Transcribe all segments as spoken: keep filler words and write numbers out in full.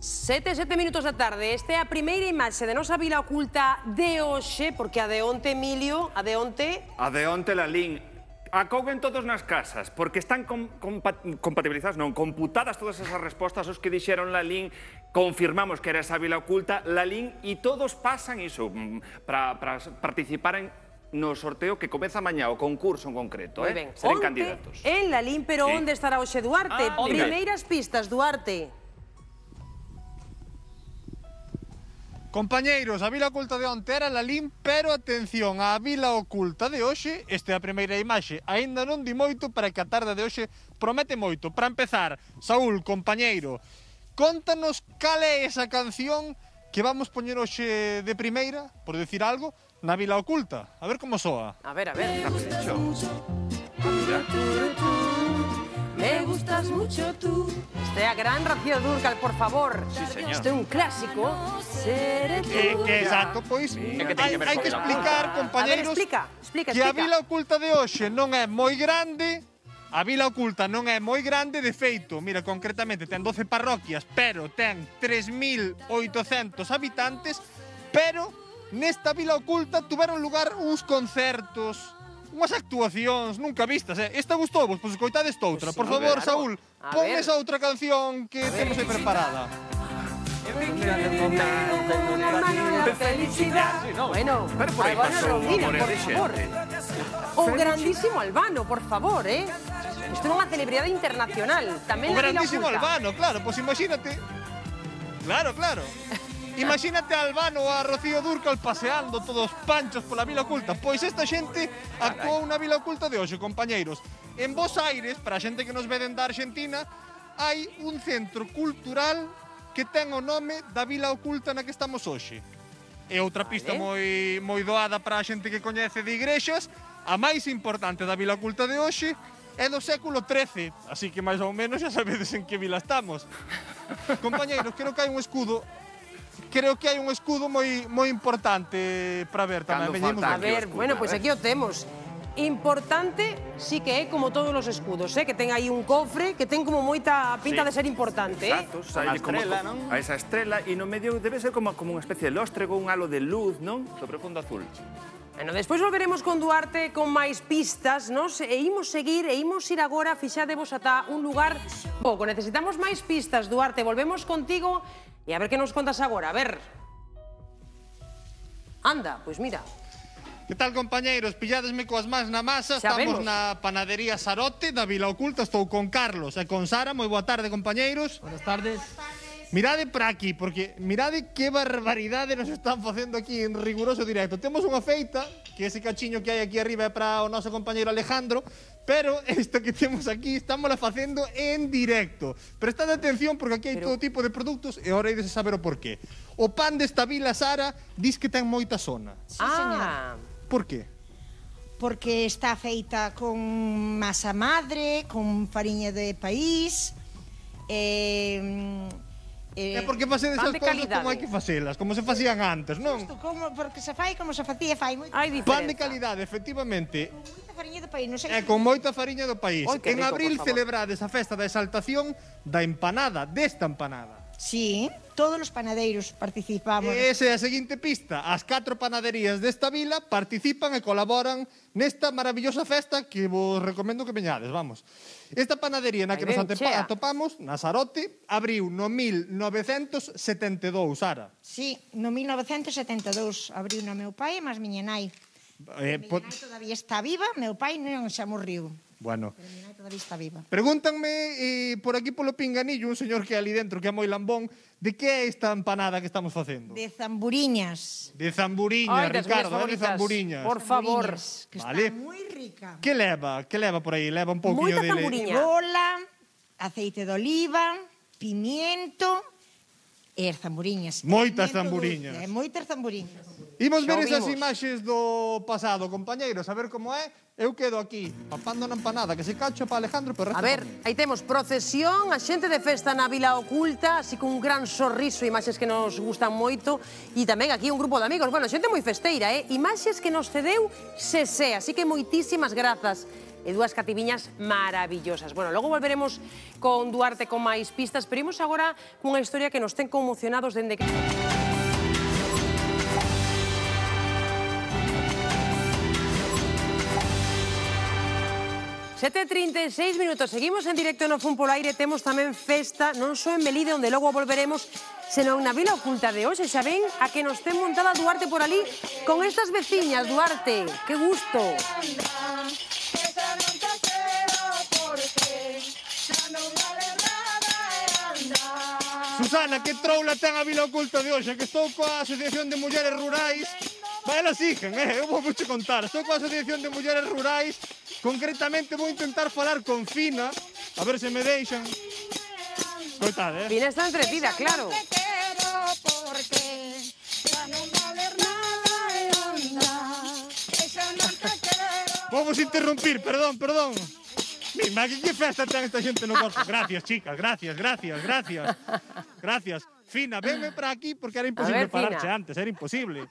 Sete, sete minutos da tarde. Esta é a primeira imaxe de nosa vila oculta de hoxe, porque a de onte, Emilio, a de onte... A de onte, Lalín, acoguen todos nas casas, porque están com, compa, compatibilizadas, non, computadas todas esas respostas, os que dixeron Lalín, confirmamos que era esa vila oculta, Lalín, e todos pasan iso, para participar en no sorteo que comeza mañá, o concurso en concreto, eh? Seren candidatos. En Lalín, pero sí. onde estará hoxe Duarte? Ah, Primeiras pistas, Duarte. Compañeiros, a vila oculta de onte era Lalín, pero atención, a vila oculta de hoxe, esta é a primeira imaxe, aínda non di moito para que a tarde de hoxe promete moito. Para empezar, Saúl, compañeiro, contanos cal é esa canción que vamos poñer hoxe de primeira, por decir algo, na vila oculta. A ver como soa. A ver, a ver. Me gustas mucho. Me gustas mucho tú. Este é a gran Rocío Dúrcal, por favor. Sí, señor. Este é un clásico. Seré tú. Eh, exacto, pois, Sí. hai, hai que explicar, compañeiros, A ver, explica, explica, que a explica. vila oculta de hoxe non é moi grande. A vila oculta non é moi grande, de feito, mira, concretamente ten doce parroquias, pero ten tres mil oitocentos habitantes, pero nesta vila oculta tuveron lugar uns concertos, unhas actuacións nunca vistas, eh? Esta gustou vos, pois coitades outra. Pues Por sí, favor, claro. Saúl, A pon ver. esa outra canción que temos aí preparada. Felicidad. Bueno, Pero por aí Albano pasou Rondina, Amores por de favor. Xente. O grandísimo Albano, por favor, eh? Isto é unha celebridade internacional. Tamén O na vila grandísimo oculta. Albano, claro, pois imagínate. Claro, claro. Imagínate a Albano ou a Rocío Dúrcal paseando todos panchos pola vila oculta. Pois esta xente actuou na vila oculta de hoxe, compañeiros. En Bos Aires, para a xente que nos veden da Argentina, hai un centro cultural que ten o nome da vila oculta na que estamos hoxe. E outra pista moi moi doada para a xente que coñece de igrexas, a máis importante da vila oculta de hoxe é do século trece, así que máis ou menos xa sabedes en que vila estamos. Compañeiros, creo que hai un escudo Creo que hai un escudo moi moi importante para ver tamén. Cando Veñemos falta A aquí. ver, escudo, bueno, a pois ver. aquí o temos. Importante sí que é como todos os escudos, eh? Que ten aí un cofre que ten como moita pinta Sí. de ser importante, eh? Exacto, Con sai a como estrela, co- non? a esa estrela, e no medio debe ser como, como unha especie de lóstrego, un halo de luz, non? Sobre fondo azul. Bueno, despois volveremos con Duarte con máis pistas, nos e imos seguir e imos ir agora, fixadevos ata un lugar pouco. Necesitamos máis pistas, Duarte, volvemos contigo e a ver que nos contas agora, a ver. Anda, pois mira. Que tal, compañeiros? Pilladesme coas mans na masa. Xa Estamos vemos. na panadería Sarote da Vila Oculta. Estou con Carlos e con Sara. Moi boa tarde, compañeiros. Buenas tardes. Mirade para aquí, porque mirade que barbaridade nos están facendo aquí en riguroso directo. Temos unha feita, que ese cachiño que hai aquí arriba é para o noso compañeiro Alejandro, pero isto que temos aquí estámosla facendo en directo. Prestad atención porque aquí hai Pero- todo tipo de produtos e ahora ides a saber o porqué. O pan desta vila, Sara, dis que ten moita zona. Sí, señor. Ah, Por qué? Porque está feita con masa madre, con fariña de país, eh, eh, É porque facedes pan esas de cousas calidade. como hai que facelas, como se facían antes, non? Isto como, porque se fai como se facía fai moito. hai diferenza. Pan de calidade, efectivamente, Moita fariña de país, non sei. e con moita fariña do país. Oi, que En rico, abril por favor. celebrades a festa da exaltación da empanada, desta empanada. Sí, todos os panadeiros participamos. E esa é a seguinte pista. As catro panaderías desta vila participan e colaboran nesta maravillosa festa que vos recomendo que veñades, vamos. Esta panadería na que Aí nos ven, atepa- chea. atopamos, na Sarote, abriu no mil novecentos setenta e dous, Sara. Sí, no mil novecentos setenta e dous abriu no meu pai e máis miña nai. Eh, Miña po- nai todavía está viva, meu pai non xa morriu. bueno, Pero miña nai todavía está viva. pregúntanme eh, por aquí polo pinganillo un señor que é ali dentro, que é moi lambón, de que é esta empanada que estamos facendo? De zamburiñas. De zamburiña, Ai, das Ricardo, miñas é de favoritas. zamburiñas. Por favor. Zamburiñas, que Vale. está moi rica. Que leva? Que leva por aí? Leva un pouquinho Moita de... zamburiña. Cebola, aceite de oliva, pimiento e as zamburiñas. Moitas Pimiento zamburiñas. dulce, e moitas zamburiñas. Imos Xa ver o esas vimos. imaxes do pasado, compañeiros, a ver como é. Eu quedo aquí, papando na empanada, que se cacho para Alejandro, pero A ver, aí temos procesión, a xente de festa na Vila Oculta, así con un gran sorriso, imaxes que nos gustan moito, e tamén aquí un grupo de amigos, bueno, xente moi festeira, eh? Imaxes que nos cedeu Sesé, así que moitísimas grazas. e dúas cativiñas maravillosas. Bueno, logo volveremos con Duarte con máis pistas, pero imos agora cunha historia que nos ten conmocionados dende que... sete e trinta e seis minutos, seguimos en directo no Fun polo Aire, temos tamén festa, non só en Melide, onde logo volveremos, senón na Vila Oculta de hoxe, xa ven a que nos ten montada Duarte por ali con estas veciñas, Duarte, que gusto. Susana, que troula ten a Vila Oculta de hoxe, que estou coa Asociación de Mulleres Rurais. Vai, elas siguen, eh? Eu vou vos contar. Estou coa Asociación de Mulleres Rurais. Concretamente vou intentar falar con Fina, a ver se me deixan. Coitade, eh? Fina está entretida, claro. Vou vos interrumpir, perdón, perdón. Mira, que festa ten esta xente no corpo. Gracias, chicas, gracias, gracias, gracias. Gracias. Fina, venme para aquí porque era imposible pararche antes, era imposible.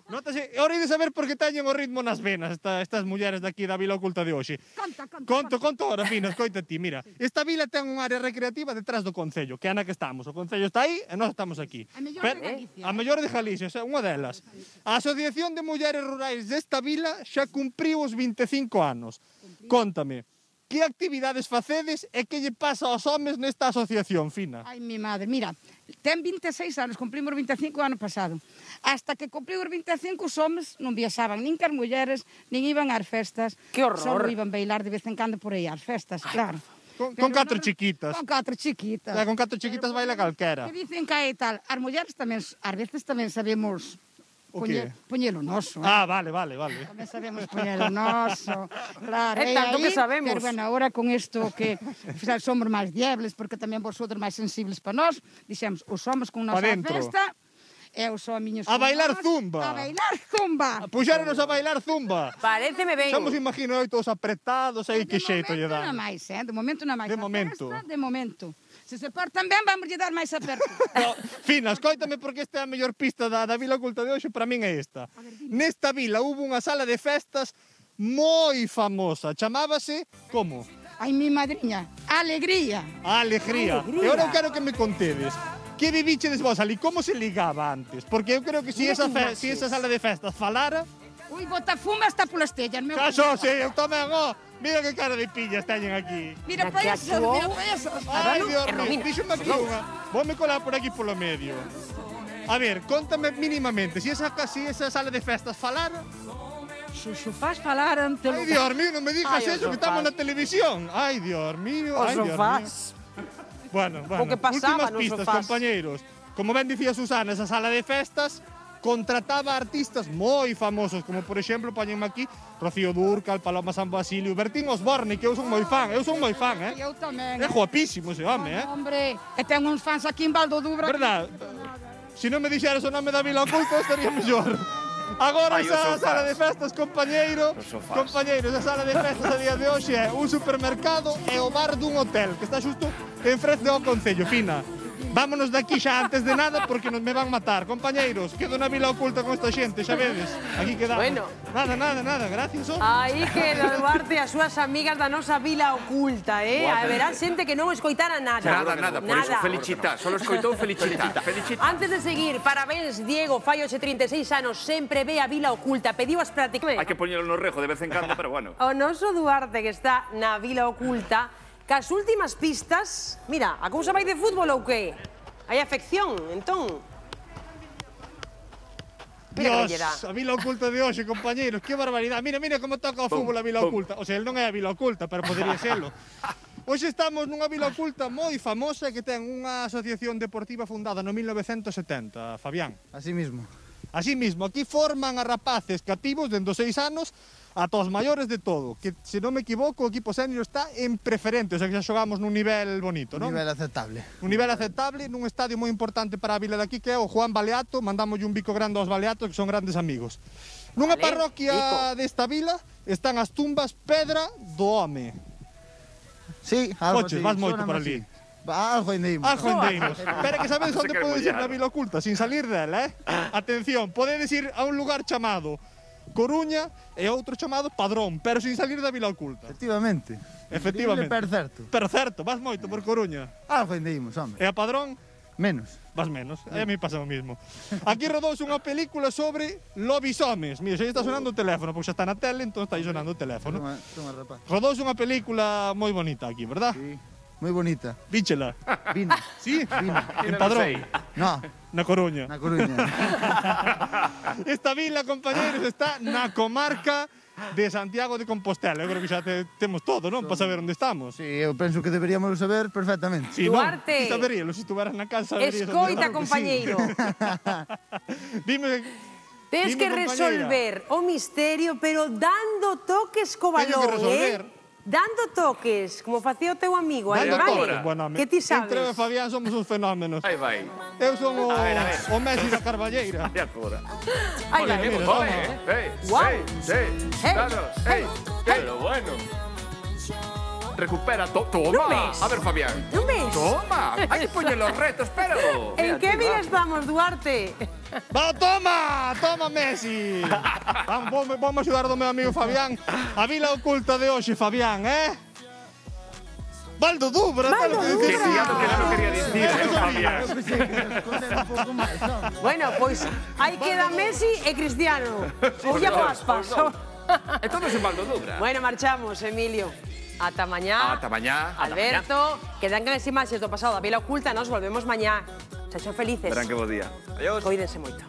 Nótase, é hora de saber por que teñen o ritmo nas venas esta, estas mulleres daqui da Vila Oculta de hoxe. Conta, conta. Conto, conto ahora, Fina, escoita ti, mira. Esta vila ten unha área recreativa detrás do Concello, que é na que estamos. O Concello está aí e nós estamos aquí. A mellor Pero, de Galicia. A mellor de Galicia, xa, unha delas. A Asociación de Mulleres Rurais desta vila xa cumpriu os vinte e cinco anos. Cóntame, que actividades facedes e que lle pasa aos homes nesta asociación, Fina? Ai, mi madre, mira, ten vinte e seis anos, cumprimos vinte e cinco ano pasado. Hasta que cumpriu os vinte e cinco, os homes non viaxaban nin que as mulleres, nin iban ás festas. Que horror. Só iban bailar de vez en cando por aí ás festas, claro. Con, Pero con catro non- chiquitas. Con catro chiquitas. Eh, con catro chiquitas baila calquera. Que dicen que hai tal, as mulleres tamén, ás veces tamén sabemos O poñer, qué? poñelo noso. Eh? Ah, vale, vale, vale. Tamén sabemos poñelo noso. Claro, É e tanto aí, que sabemos. Pero bueno, agora con isto que xa somos máis diebles, porque tamén vosotros máis sensibles para nós, dixemos, os somos con nosa Pa dentro. festa, e os homiños A con bailar nós, zumba. A bailar zumba. Puxéronos a bailar zumba. Paréceme ben. Xa nos imagino aí todos apretados, aí que xeito lle De momento dan. non máis, eh? De momento non máis. De A momento. Festa, de momento. Se se portan ben, vamos lle dar máis aperto. No, Fina, escoítame porque esta é a mellor pista da, da Vila Oculta de hoxe, para min é esta. Nesta vila hubo unha sala de festas moi famosa, chamábase, como? Ai, mi madriña, alegría. A Alegría. Alegría. E agora eu quero que me contedes. Que vivichedes vos ali? Como se ligaba antes? Porque eu creo que se si esa, fe, si esa sala de festas falara... Ui, bota fuma está polas tellas, meu. Caso, sí, eu tamén, ó. Mira que cara de pillas teñen aquí. Mira Na para que esos, actuou. mira para esos. Ai, Abano Dios e mío, Romina. díxome aquí unha. Voume colar por aquí polo medio. A ver, contame mínimamente, si esa, si esa sala de festas falara... Se o sofás falaran, te lo... Ai, Dios mío, non me digas Ai, os eso, que estamos sofás. na televisión. Ai, Dios mío, Os ai, Dios mío. sofás. Bueno, bueno, que pasaba últimas nos pistas, sofás. compañeiros. Como ben dicía Susana, esa sala de festas contrataba artistas moi famosos, como por exemplo, poñenme aquí, Rocío Dúrcal, Paloma San Basilio, Bertín Osborne, que eu son moi fan, eu son moi fan, eh? Eu tamén. É guapísimo ese home, eh? Hombre, e ten uns fans aquí en Valdo Dubra. Verdad? Se non me dixeras o nome da Vila Oculta, estaría mellor. Agora Ai, os esa sofás. sala de festas, compañeiro, Os sofás. compañeiro, esa sala de festas a día de hoxe é un supermercado e o bar dun hotel, que está xusto en frente ao Concello, Fina. Vámonos de aquí xa antes de nada porque nos me van matar. Compañeiros, quedo na Vila Oculta con esta xente, xa vedes. Aquí quedamos. Bueno. Nada, nada, nada, gracias. Oh. Aí queda Duarte e as súas amigas da nosa Vila Oculta, eh? Haberá xente que non escoitara nada. Nada, nada, por eso felicitar. Solo escoitou felicitar. Felicitar. Antes de seguir, parabéns, Diego, fai hoxe trinta e seis anos, sempre ve a Vila Oculta, pediu as prácticas. Hai que poñelo no rejo de vez en cando, pero bueno. O noso Duarte, que está na Vila Oculta, cas últimas pistas, mira, a cousa vai de fútbol ou que? Hai afección, entón. Mira que lle dá. Dios, a Vila Oculta de hoxe, compañeiros, que barbaridade. Mira, mira como toca o fútbol a Vila pum. Oculta. O sea, el non é a Vila Oculta, pero podería serlo. Hoxe estamos nunha Vila Oculta moi famosa que ten unha asociación deportiva fundada no mil novecentos setenta, Fabián. Así mismo. Así mismo, aquí forman a rapaces cativos dende os seis anos ata os maiores de todo, que, se non me equivoco, o equipo senior está en preferente, o sea que xa xogamos nun nivel bonito, non? Nivel aceptable. Un nivel aceptable nun estadio moi importante para a vila de aquí, que é o Juan Baleato. Mandamos un bico grande aos Baleatos, que son grandes amigos. Nunha Vale, parroquia bico. desta vila están as tumbas Pedra do Home. Sí, algo Coches, así, vas moito sóname por así. ali. Va, Algo indimos. Algo endeiros. Pero que sabedes Se onde quere podedes ir mollar. na Vila Oculta, sin salir dela, eh? Atención, podedes ir a un lugar chamado Coruña e outro chamado Padrón, pero sin salir da Vila Oculta. Efectivamente. Efectivamente. Increíble, pero certo. Pero certo, vas moito por Coruña. Algo ainda imos, home. E a Padrón? Menos. Vas menos, a mí pasa o mismo. Aquí rodouse unha película sobre lobisomes. Mira, xa está sonando o teléfono, porque xa está na tele, entón está aí sonando o teléfono. Toma, toma, rapaz. Rodouse unha película moi bonita aquí, verdad? Sí, moi bonita. Víchela. Vina. Sí? Vina. En Padrón. No, Na Coruña. na Coruña. Esta vila, compañeros, está na comarca de Santiago de Compostela. Eu creo que xa te, temos todo, non? Para saber onde estamos. Sí, eu penso que deberíamos saber perfectamente. Sí, Duarte. Non? Ti saberíalo, se estuveras na casa saberías onde Escoita, estamos. compañeiro. Dime... Tens dime, que compañeira. resolver o misterio, pero dando toques co Teño que balón, resolver. eh? Dando toques, como facía o teu amigo, aí, Dando vale? toques, bueno, Que ti sabes? Entre eu e Fabián somos uns fenómenos. Aí vai. Eu son o, A ver, a ver. o Messi da Carballeira. E agora? Aí Ole, vai. mira, ole, toma. eh, Guau. eh, eh, Hey, danos, hey, eh, hey. pero bueno. Recupera, to toma. Non ves? A ver, Fabián. Non ves? Toma. Hai que poñer los retos, pero... En Mira, que tío, vida va. estamos, Duarte? Va, toma! Toma, Messi! Vamos, vamos, vamos axudar do meu amigo Fabián. A vila oculta de hoxe, Fabián, eh? Baldo Dubra, Baldo tal que Dubra. dicir. Que ya lo que non lo quería dicir, eh, Fabián. Eu pensei que se esconder un pouco máis, home. Bueno, pois aí queda Messi e Cristiano. Ou Iago Aspas. Entonces es Baldo Dubra. Bueno, marchamos, Emilio. Ata mañá. Ata mañá. Alberto, quedan as imaxes do pasado da Vila Oculta, nos volvemos mañá. Sexan felices. Verán que bo día. Adiós. Coídense moito.